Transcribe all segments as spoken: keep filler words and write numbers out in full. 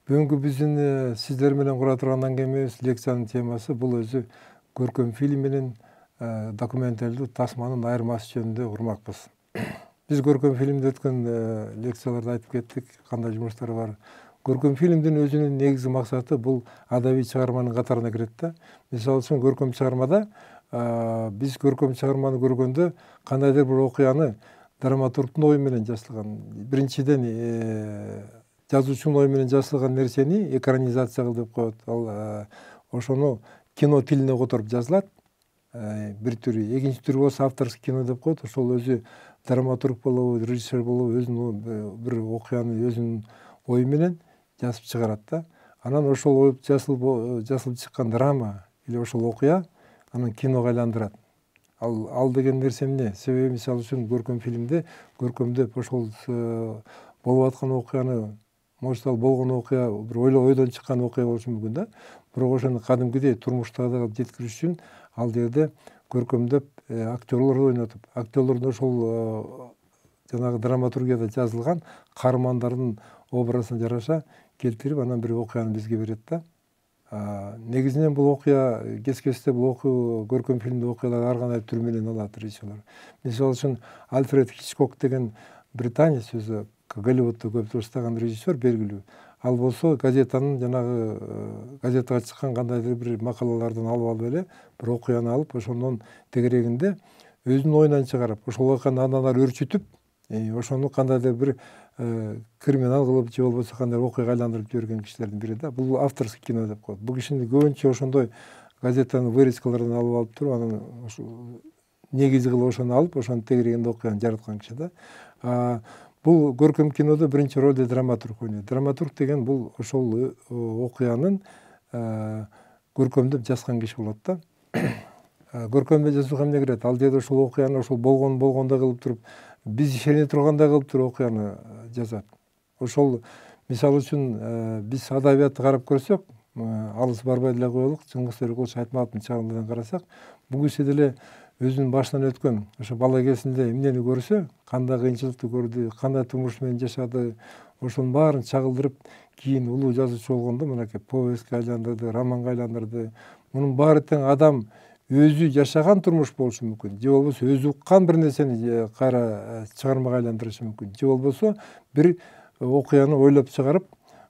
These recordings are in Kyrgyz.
Бүгүнкү биздин сиздер менен кура турган аңгемебиз, лекциянын темасы бул өзү көркөм фильм менен документалдуу тасманын айырмасы жөнүндө урмакпыз. Биз көркөм фильмде өткөн лекцияларда айтып кеттик, кандай жумуштар бар. Көркөм фильмдин өзүнүн негизги максаты бул адабий чыгарманын катарына кирет да. Мисалы үчүн көркөм чыгармада биз көркөм чыгарманы көргөндө кандайдыр бир окуяны драматургдун ою менен жасалган. Биринчиден жазуучунун ою менен жасалган нерсени экранизация кыл деп коет. Ал ошону кино тилине которуп жазылат. Бир түрү, экинчи түрү болсо авторский кино деп коет. Ошол өзү драматург болобу, режиссер болобу өзүнүн бир окуяны өзүнүн ою менен жазып чыгарат да. Анан ошол ой жасылып жасылып чыккан драма или ошол окуя анан киного айландырат. Ал ал деген нерсе эмне? Себеби мисалы үчүн көркөм фильмде көркөмдөп ошол болуп аткан окуяны, может ал болгон окуя бир ойдон чыккан окуя болушу мүмкүн да. Бирок ошону кадимкидей турмуштагы жеткириш үчүн ал жерде көркөмдөп актерлорду ойнотуп, актерлордун ошол жанагы драматургияда жазылган каармандардын образына жараша келтирип, анан бир окуяны бизге берет да. Негизинен бул окуя кескесте бул көркөм фильмде окуялар ар кандай түр менен алат режиссерлор. Мисалы үчүн Альфред Хичкок деген британец өзү Голливудда көп жаштаган режиссер белгилүү. Ал болсо газетанын жанагы газетага чыккан кандайдыр бир макалалардан алып алып эле бир окуяны алып, ошондон тегерегинде өзүнүн оюнан чыгарып, ошол окуяны андан ары өрчүтүп, ошону кандайдыр бир криминал кылып же болбосо кандай окуяга айландырып жиберген кишилердин бири да. Бул авторский кино деп коет. Бул кишини көбүнчө ошондой газетанын вырезкаларынан алып алып туруп, анан негизи кылып ошону алып, ошонун тегерегинде окуяны жараткан киши да. Бул көркөм кинодо биринчи ролду драматург ойнойт. Драматург деген бул ошол окуянын көркөмдөп жазган киши болот да. Көркөмдөп жазууга эмне кирет? Ал жерде ошол окуяны ошол болгон болгондой кылып туруп, биз ишене тургандай кылып туруп окуяны жазат. Ошол мисалы үчүн биз адабиятты карап көрсөк, алыс барбай деле коелук, Чыңгыз Төрөкулович Айтматовдун чагынан карасак, бул киши деле өзүнүн башынан өткөн ошо бала кезинде эмнени көрсө, кандай кыйынчылыкты көрдү, кандай турмуш менен жашады, ошонун баарын чагылдырып, кийин улуу жазуучу болгондо мынакей повестке айландырды, романга айландырды. Мунун баары тең адам өзү жашаган турмуш болушу мүмкүн, же болбосо өзү уккан бир нерсени кайра чыгармага айландырышы мүмкүн, же болбосо бир окуяны ойлоп чыгарып,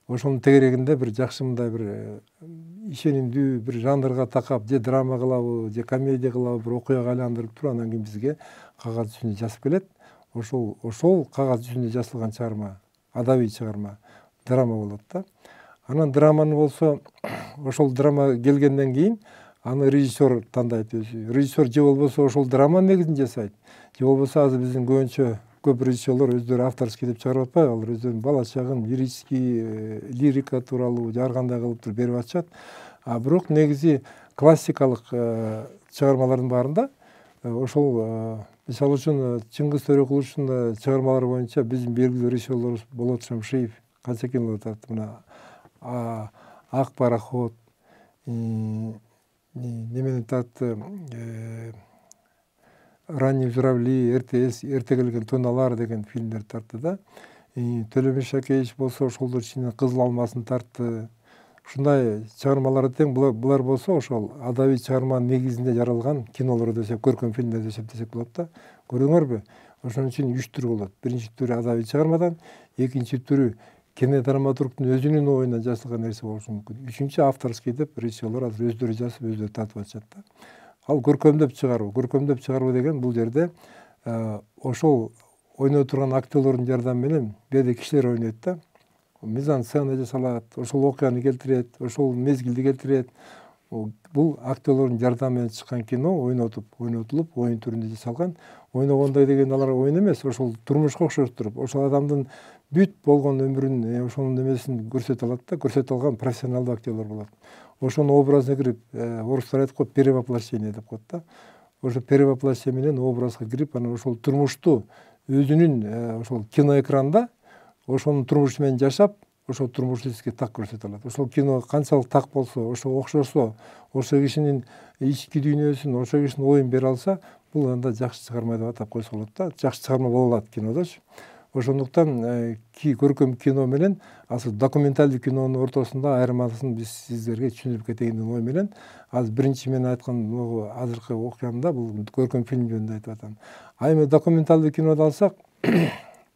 ошонун тегерегинде бир жакшы мындай бир ишенимдүү бир жанрга такап, же драма кылабы, же комедия кылабы, бир окуяга айландырып туруп, анан кийин бизге кагаз жүзүндө жазып келет. Ошол ошол кагаз жүзүндө жазылган чыгарма, адабий чыгарма, драма болот да. Анан драманы болсо, ошол драма келгенден кийин аны режиссер тандайт өзү. Режиссер же болбосо ошол драманын негизин жасайт, же болбосо азыр биздин көбүнчө көп режиссерлор өздөрү авторский деп чыгарып атпайбы, алар өздөрүнүн бала чагын лирический, лирика тууралуу же ар кандай кылып туруп берип атышат. А бирок негизи классикалык чыгармалардын баарында ошол мисалы үчүн Чыңгыз Төрөкуловичтун чыгармалары боюнча биздин белгилүү режиссерлорубуз Болот Шамшиев канча кинолор тартты. Мына Ак пароход, немени тартты, Ранние журавли, эрте келген туналар деген фильмдер тартты да. Төлөбөш Шакеевич болсо ошолдор ичинен Кызыл алмасын тартты. Ушундай чыгармалары тең. Булар болсо ошол адабий чыгарманын негизинде жаралган кинолор десек, көркөм фильмдер десек десек болот да. Көрдүңөрбү? Ошон үчүн үч түр болот. Биринчи түрү адабий чыгармадан, экинчи түрү кинодраматургдун өзүнүн оюнан жасалган нерсе болушу мүмкүн. Үчүнчү авторский деп режиссерлор азыр өздөрү жазып, өздөрү тартып атышат да. Ал көркөмдөп чыгаруу. Көркөмдөп чыгаруу деген бул жерде ошол ойной турган актерлордун жардамы менен бияда кишилер ойнойт да. Мизансцена жасалат, ошол окуяны келтирет, ошол мезгилди келтирет. Бул актерлордун жардамы менен чыккан кино ойнотуп, ойнотулуп, оюн түрүндө жасалган. Ойногондой деген алар оюн эмес, ошол турмушка окшоштуруп, ошол адамдын бүт болгон өмүрүн, ошонун немесин көрсөтө алат да, көрсөтө алган профессионалдуу актерлор болот. Ошонун образына кирип, орустар айтып коет, перевоплощение деп коет да. Ошо перевоплощение менен образга кирип, анан ошол турмушту өзүнүн ошол киноэкранда ошонун турмушу менен жашап, ошол турмушту сизге так көрсөтө алат. Ошол кино канчалык так болсо, ошо окшосо, ошол кишинин ички дүйнөсүн, ошол кишинин оюн бере алса, бул анда жакшы чыгарма деп атап койсо болот да. Жакшы чыгарма боло алат кинодочу. Ошондуктан көркөм кино менен асыл документалдык кинонун ортосунда айырмасын биз сиздерге түшүндүрүп кетейин деген ой менен азыр биринчи мен айткан азыркы окуямда бул көркөм фильм жөнүндө айтып атам. А эми документалдык киноду алсак,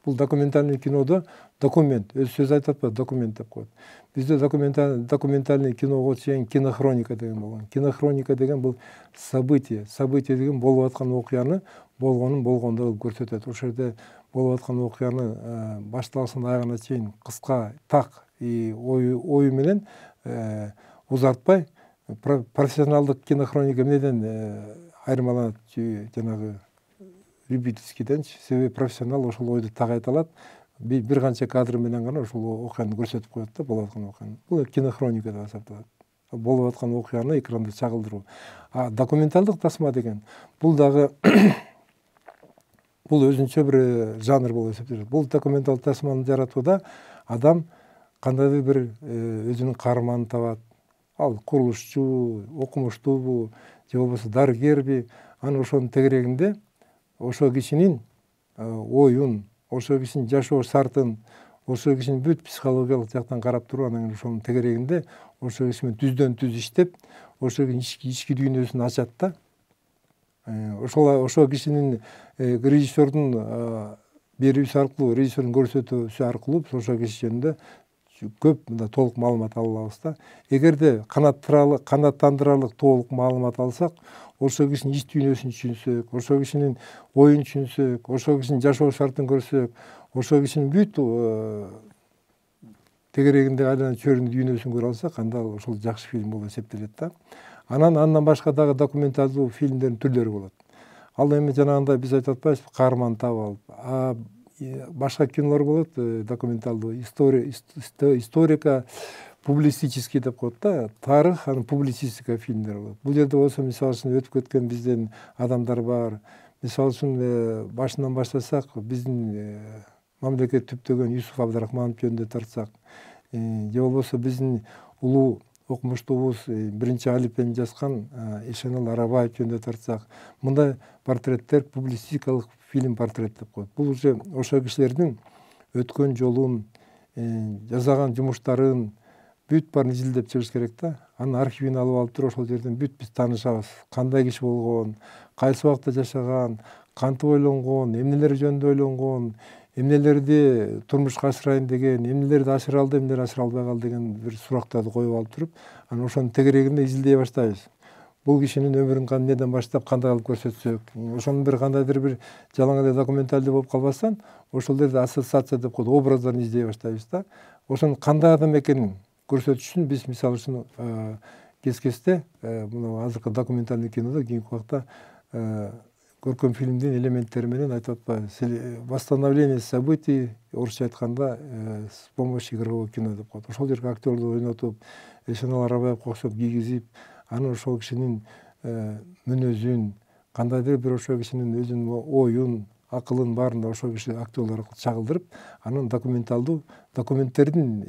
бул документальный кинодо документ, өз сөзү айтып атпайбы, документ деп коет. Бизде документальный киного чейин кинохроника деген болгон. Кинохроника деген бул событие, событие деген болуп аткан окуяны болгонун болгондой кылып көрсөтөт. Ошол жерде болуп аткан окуяны башталышынан аягына чейин кыска, так ою менен узартпай, профессионалдык кинохроника эмнеден айырмаланат жанагы любительскийденчи? Себеби профессионал ошол ойду так айта алат, бир канча кадр менен гана ошол окуяны көрсөтүп коет да, болуп аткан окуяны. Бул кинохроника деп эсептелет. Болуп аткан окуяны экранда чагылдыруу. А документалдык тасма деген бул дагы бул өзүнчө бир жанр болуп эсептелет. Бул документалдык тасманы жаратууда адам кандайдыр бир өзүнүн каарманын табат. Ал курулушчу, окумуштуубу, же болбосо дарыгерби, анан ошонун тегерегинде ошол кишинин оюн, ошол кишинин жашоо шартын, ошол кишинин бүт психологиялык жактан карап туруп, анан ошонун тегерегинде ошол киши менен түздөн түз иштеп, ошол кишинин ички дүйнөсүн ачат да. Ошол ошол кишинин режиссердун берүүсү аркылуу, режиссердун көрсөтүүсү аркылуу ошол киши жөнүндө көп мындай толук маалымат ала алабыз да. Эгерде канааттандырарлык толук маалымат алсак, ошол кишинин ич дүйнөсүн түшүнсөк, ошол кишинин оюн түшүнсөк, ошол кишинин жашоо шартын көрсөк, ошол кишинин бүт тегерегинде айланып чөйрүн дүйнөсүн көрө алсак, анда ошол жакшы фильм болуп эсептелет да. Анан андан башка дагы документалдуу фильмдердин түрлөрү болот. Ал эми жанагындай биз айтып атпайбызбы, каарман таап алып. Башка кинолор болот, документалдуу, историка, публицистический деп коет да, тарых, анан публицистика фильмдер болот. Бул жерде болсо мисалы үчүн өтүп кеткен бизден адамдар бар. Мисалы үчүн башынан баштасак, биздин мамлекет түптөгөн Юсуп Абдрахманов жөнүндө тартсак, же болбосо биздин улуу окумуштуубуз биринчи алифбени жазган Эшенал Арабаев жөнүндө тартсак, мындай портреттер публицистикалык фильм портрет деп коет. Бул уже ошол кишилердин өткөн жолун, жасаган жумуштарын бүт баарын изилдеп чыгыш керек да. Анын архивин алып алып туруп ошол жерден бүт биз таанышабыз. Кандай киши болгон, кайсы убакта жашаган, кантип ойлонгон, эмнелер жөнүндө ойлонгон, эмнелерди турмушка ашырайын деген, эмнелерди ашыра алды, эмнелерди ашыра албай калды деген бир сурактарды коюп алып туруп, анан ошонун тегерегинде изилдей баштайбыз. Бул кишинин өмүрүн эмнеден баштап кандай кылып көрсөтсөк, ошонун бир кандайдыр бир жалаң эле документалдуу болуп калбастан, ошол жерде ассоциация деп коет, образдарын издей баштайбыз да. Ошонун кандай адам экенин көрсөтүш үчүн биз мисалы үчүн кез-кезде мына азыркы документальный кинодо кийинки убакта көркөм фильмдин элементтери менен айтып атпайбы, восстановление событий, орусча айтканда с помощью игрового кино деп коет. Ошол жерге актерлорду ойнотуп, Эшенал Арабаевге окшоп кийгизип, анан ошол кишинин мүнөзүн, кандайдыр бир ошол кишинин өзүнүн оюн, акылын баарын да ошол киши актерлор аркылуу чагылдырып, анан документалдуу документтердин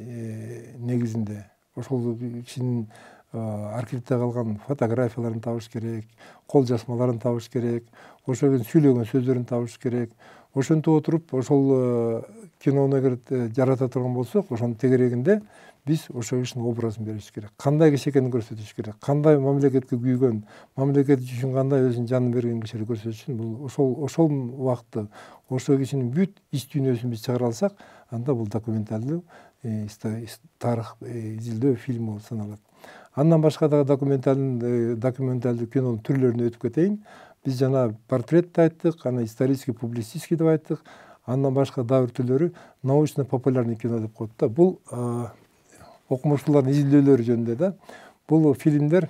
негизинде ошол кишинин архивде калган фотографияларын табыш керек, кол жазмаларын табыш керек, ошол кишинин сүйлөгөн сөздөрүн табыш керек. Ошентип отуруп, ошол кинону эгер жарата турган болсок, ошонун тегерегинде биз ошол кишинин образын беришибиз керек. Кандай киши экенин көрсөтүш керек. Кандай мамлекетке күйгөн, мамлекет үчүн кандай өзүнүн жанын берген кишиди көрсөтүш үчүн бул ошол ошол убакытты, ошол кишинин бүт ич дүйнөсүн биз чыгара алсак, анда бул документалдуу тарых изилдөө фильм болуп саналат. Андан башка дагы документалдуу документалдуу кинонун түрлөрүнө өтүп кетейин. Биз жана портрет айттык, анан исторический, публицистский деп айттык. Андан башка дагы бир түрлөрү научно-популярный кино деп коет да. Бул окумуштуулардын изилдөөлөрү жөнүндө да. Бул фильмдер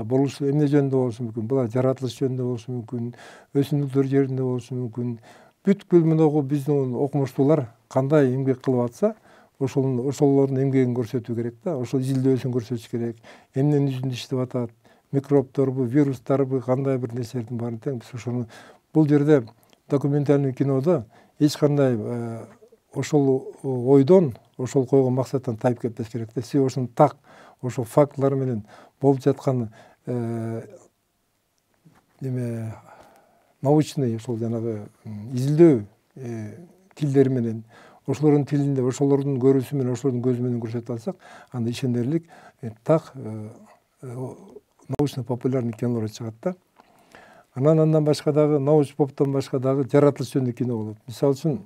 болушу эмне жөнүндө болушу мүмкүн? Булар жаратылыш жөнүндө болушу мүмкүн, өсүмдүктөр жөнүндө болушу мүмкүн. Бүткүл мынагу биздин окумуштуулар кандай эмгек кылып атса, ошол ошолордун эмгегин көрсөтүү керек да. Ошол изилдөөсүн көрсөтүш керек. Эмненин жүзүндө иштеп атат? Микробторбу, вирустарбы, кандай бир нерселердин баарын тең биз ошону бул жерде документальный кинодо эч кандай ошол ойдон, ошол койгон максаттан тайып кетпеш керек да. Себеби ошонун так, ошол фактылар менен болуп жаткан неме научный ошол жанагы изилдөө тилдери менен, ошолордун тилинде, ошолордун көрүүсү менен, ошолордун көзү менен көрсөтүп алсак, анда ишенерлик так научно популярный кинолор чыгат да. Анан андан башка дагы научный поптон башка дагы жаратылыш жөнүндө кино болот. Мисалы үчүн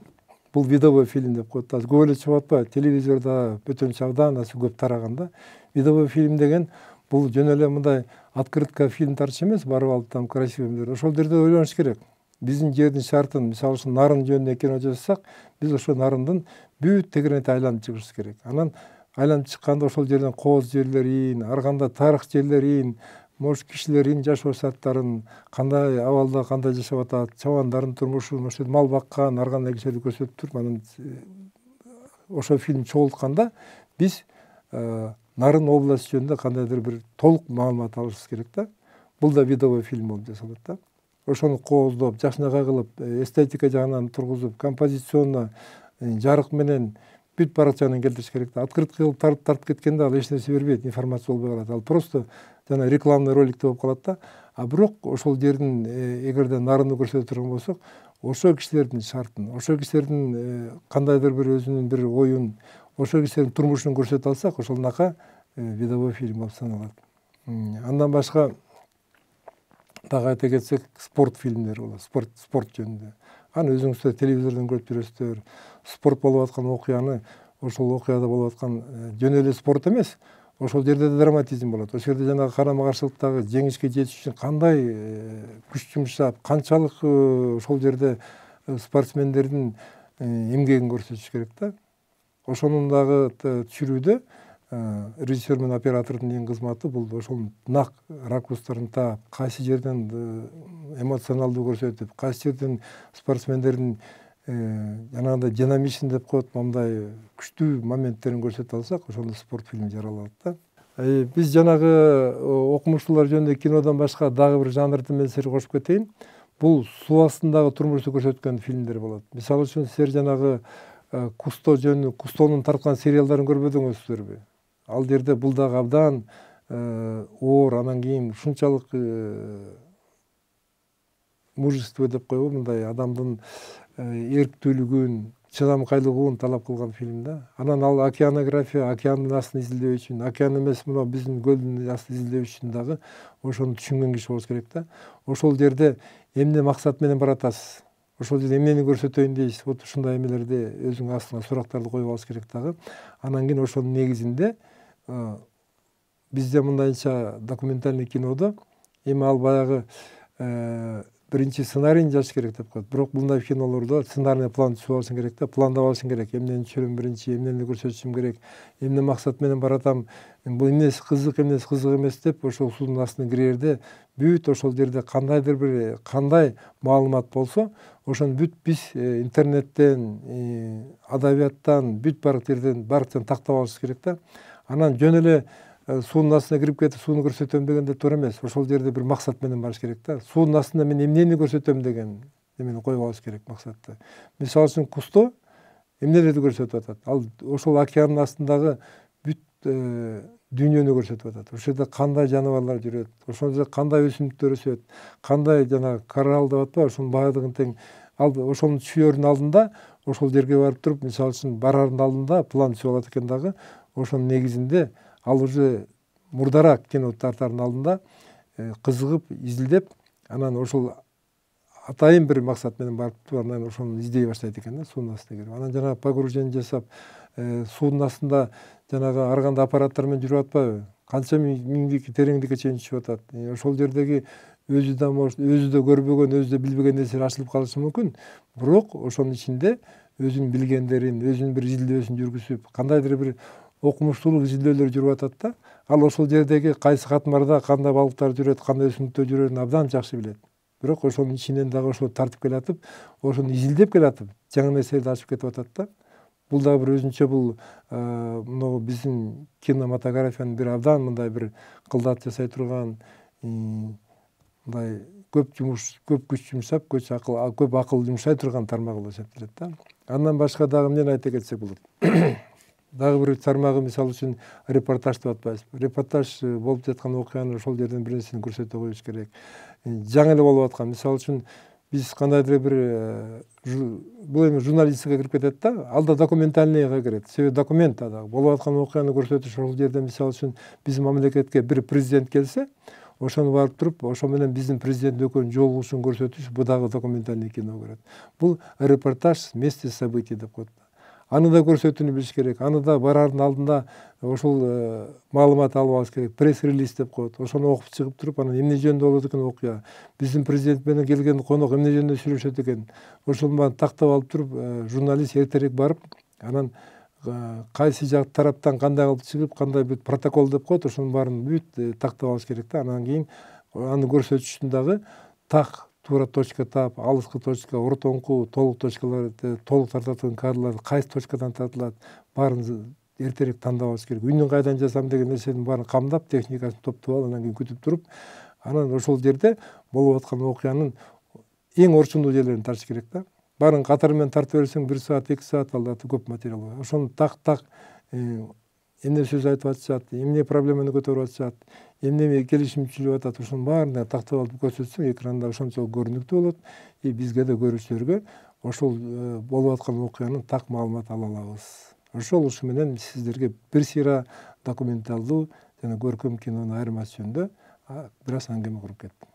бул видовой фильм деп коет. Азыр көп эле чыгып атпайбы? Телевизордо бөтөнчө абдан көп тараган да. Видовой фильм деген бул жөн эле мындай открытка фильм тартыш эмес, барып алып там красивый. Ошол жерде ойлонуш керек. Биздин жердин шартын, мисалы үчүн нарын жөнүндө кино жасасак, биз ошол нарындын бүт тегеренте айланып чыгышыбыз керек. Анан айланып чыкканда ошол жерден кооз жерлерин, ар кандай тарых жерлерин, может кишилердин жашоо шарттарын, кандай абалда кандай жашап атат, чабандардын турмушун, ошол мал баккан, ар кандай кишилерди көрсөтүп туруп, анан ошол фильм чогултканда биз нарын область жөнүндө кандайдыр бир толук маалымат алышыбыз керек да. Бул да видовой фильм болуп жасалат да. Ошону кооздоп, жакшынакай кылып, эстетика жагынан тургузуп, композиционно, жарык менен бүт барак жагынан келтириш керек да. Открытка кылып тартып тартып кеткенде ал эч нерсе бербейт, информация болбой калат. Ал просто жана рекламный роликтей болуп калат да. А бирок ошол жердин эгерде нарыны көрсөтө турган болсок, ошол кишилердин шартын, ошол кишилердин кандайдыр бир өзүнүн бир оюн, ошол кишилердин турмушун көрсөтө алсак, ошолунака видовой фильм болуп саналат. Андан башка дагы айта кетсек, спорт фильмдери болот, спорт спорт жөнүндө. Аны өзүңүздөр телевизордон көрүп жүрөсүздөр. Спорт болуп аткан окуяны, ошол окуяда болуп аткан жөн эле спорт эмес, ошол жерде да драматизм болот. Ошол жерде жанагы карама каршылыктагы жеңишке жетиш үчүн кандай күч жумшап, канчалык ошол жерде спортсмендердин эмгегин көрсөтүш керек да. Ошонун дагы түшүрүүдө режиссер менен оператордун эң кызматы бул ошол нак ракурстарын таап, кайсы жерден эмоционалдуу көрсөтүп, кайсы жерден спортсмендердин жанагындай динамичный деп коет, мындай күчтүү моменттерин көрсөтө алсак, ошондо спорт фильми жаралат да. Биз жанагы окумуштуулар жөнүндө кинодон башка дагы бир жанрды мен силерге кошуп кетейин. Бул суу астындагы турмушту көрсөткөн фильмдер болот. Мисалы үчүн силер жанагы Кусто жөнүндө, Кустонун тарткан сериалдарын көрбөдүңүздөрбү? Ал жерде бул дагы абдан оор, анан кийин ушунчалык мужество деп коебу, мындай адамдын эрктүүлүгүн, чыдамкайлыгын талап кылган фильм да. Анан ал океанография, океандын астын изилдөө үчүн, океан эмес, мына биздин көлдүн астын изилдөө үчүн дагы ошону түшүнгөн киши болуш керек да. Ошол жерде эмне максат менен баратасыз? Ошол жерде эмнени көрсөтөйүн дейсиз? Вот ушундай эмелерди өзүңүн астыңа сурактарды коюп алыш керек дагы. Анан кийин ошонун негизинде бизде мындайча документальный кинодо эми ал баягы биринчи сценарийин жазыш керек деп коет. Бирок мындай кинолордо сценарный план түзүп алышың керек да, пландап алышың керек. Эмнени түшүрөм биринчи, эмнени көрсөтүшүм керек, эмне максат менен баратам, бул эмнеси кызык, эмнеси кызык эмес деп ошол суунун астына кирерде бүт ошол жерде кандайдыр бир кандай маалымат болсо, ошону бүт биз интернеттен, адабияттан, бүт барак жерден барактан тактап алышыбыз керек да. Анан жөн эле суунун астына кирип кетип сууну көрсөтөм дегенде туура эмес. Ошол жерде бир максат менен барыш керек да. Суунун астында мен эмнени көрсөтөм деген эмени коюп алыш керек максатты. Мисалы үчүн Кусто эмнелерди көрсөтүп атат? Ал ошол океандын астындагы бүт дүйнөнү көрсөтүп атат. Ошол жерде кандай жаныбарлар жүрөт, ошол жерде кандай өсүмдүктөр өсөт, кандай жана коралл деп атпайбы, ошонун баардыгын тең ал ошонун түшүөрүнүн алдында ошол жерге барып туруп, мисалы үчүн барардын алдында план түзүп алат экен дагы. Ошонун негизинде ал уже мурдараак кино тартардын алдында кызыгып, изилдеп, анан ошол атайын бир максат менен барып, анан ошону издей баштайт экен да, суунун астына кирип. Анан жанагы погружение жасап, суунун астында жанагы ар кандай аппараттар менен жүрүп атпайбы? Канча миңдик тереңдикке чейин түшүп атат. Ошол жердеги өзү да может, өзү да көрбөгөн, өзү да билбеген нерселер ачылып калышы мүмкүн. Бирок ошонун ичинде өзүнүн билгендерин, өзүнүн бир изилдөөсүн жүргүзүп, кандайдыр бир окумуштуулук изилдөөлөр жүрүп атат да. Ал ошол жердеги кайсы катмарда кандай балыктар жүрөт, кандай өсүмдүктөр жүрөрүн абдан жакшы билет. Бирок ошонун ичинен дагы ошол тартып келатып, ошону изилдеп келатып, жаңы нерселерди ачып кетип атат да. Бул дагы бир өзүнчө бул могу биздин кинематографиянын бир абдан мындай бир кылдат жасай турган, мындай көп жумуш, көп күч жумшап, көп акыл, көп акыл жумшай турган тармагы болуп эсептелет да. Андан башка дагы эмнени айта кетсек болот? Дагы бир тармагы, мисалы үчүн репортаж деп атпайбызбы? Репортаж болуп жаткан окуяны ошол жерден бир нерсени көрсөтө коюш керек. Жаңы эле болуп аткан, мисалы үчүн биз кандайдыр бир бул эми журналистикага кирип кетет да, ал да документальныйга кирет. Себеби документ да болуп аткан окуяны көрсөтүш. Ошол жерде мисалы үчүн биздин мамлекетке бир президент келсе, ошону барып туруп, ошо менен биздин президент экөөнүн жолугушуун көрсөтүш, бул дагы документальный кино көрөт. Бул репортаж с места событий деп коет. Аны да көрсөтүүнү билиш керек. Аны да бараардын алдында ошол маалымат алып алыш керек. Пресс-релиз деп коет. Ошону окуп чыгып туруп, анан эмне жөнүндө болот экен окуя, биздин президент менен келген конок эмне жөнүндө сүйлөшөт экен. Ошонун баарын тактап алып туруп, журналист эртерээк барып, анан кайсы жак тараптан кандай кылып чыгып, кандай бүт протокол деп коет, ошонун баарын бүт тактап алыш керек да. Анан кийин аны көрсөтүштүн дагы так, туура точка таап, алыскы точка, ортоңку, толук точкалар, толук тартылган кадрлар кайсы точкадан тартылат, баарын эртерээк тандап алыш керек. Үнүн кайдан жасам деген нерсенин баарын камдап, техникасын топтоп алып, анан кийин күтүп туруп, анан ошол жерде болуп аткан окуянын эң орчундуу жерлерин тартыш керек да. Баарын катары менен тартып берсең бир саат, эки саат алда көп материал бар. Ошону так-так эмне сөз айтып атышат, эмне проблеманы көтөрүп атышат, эмне келишимчилик атат, ошонун баарын тактап алып көрсөтсөң, экранда ошончолук көрүнүктүү болот. И бизге да көрүүчүлөргө ошол болуп аткан окуянын так маалымат ала алабыз. Ошол ушу менен сиздерге бир сыйра документалдуу жана көркөм кинонун айырмасы жөнүндө бир аз аңгеме куруп кеттим.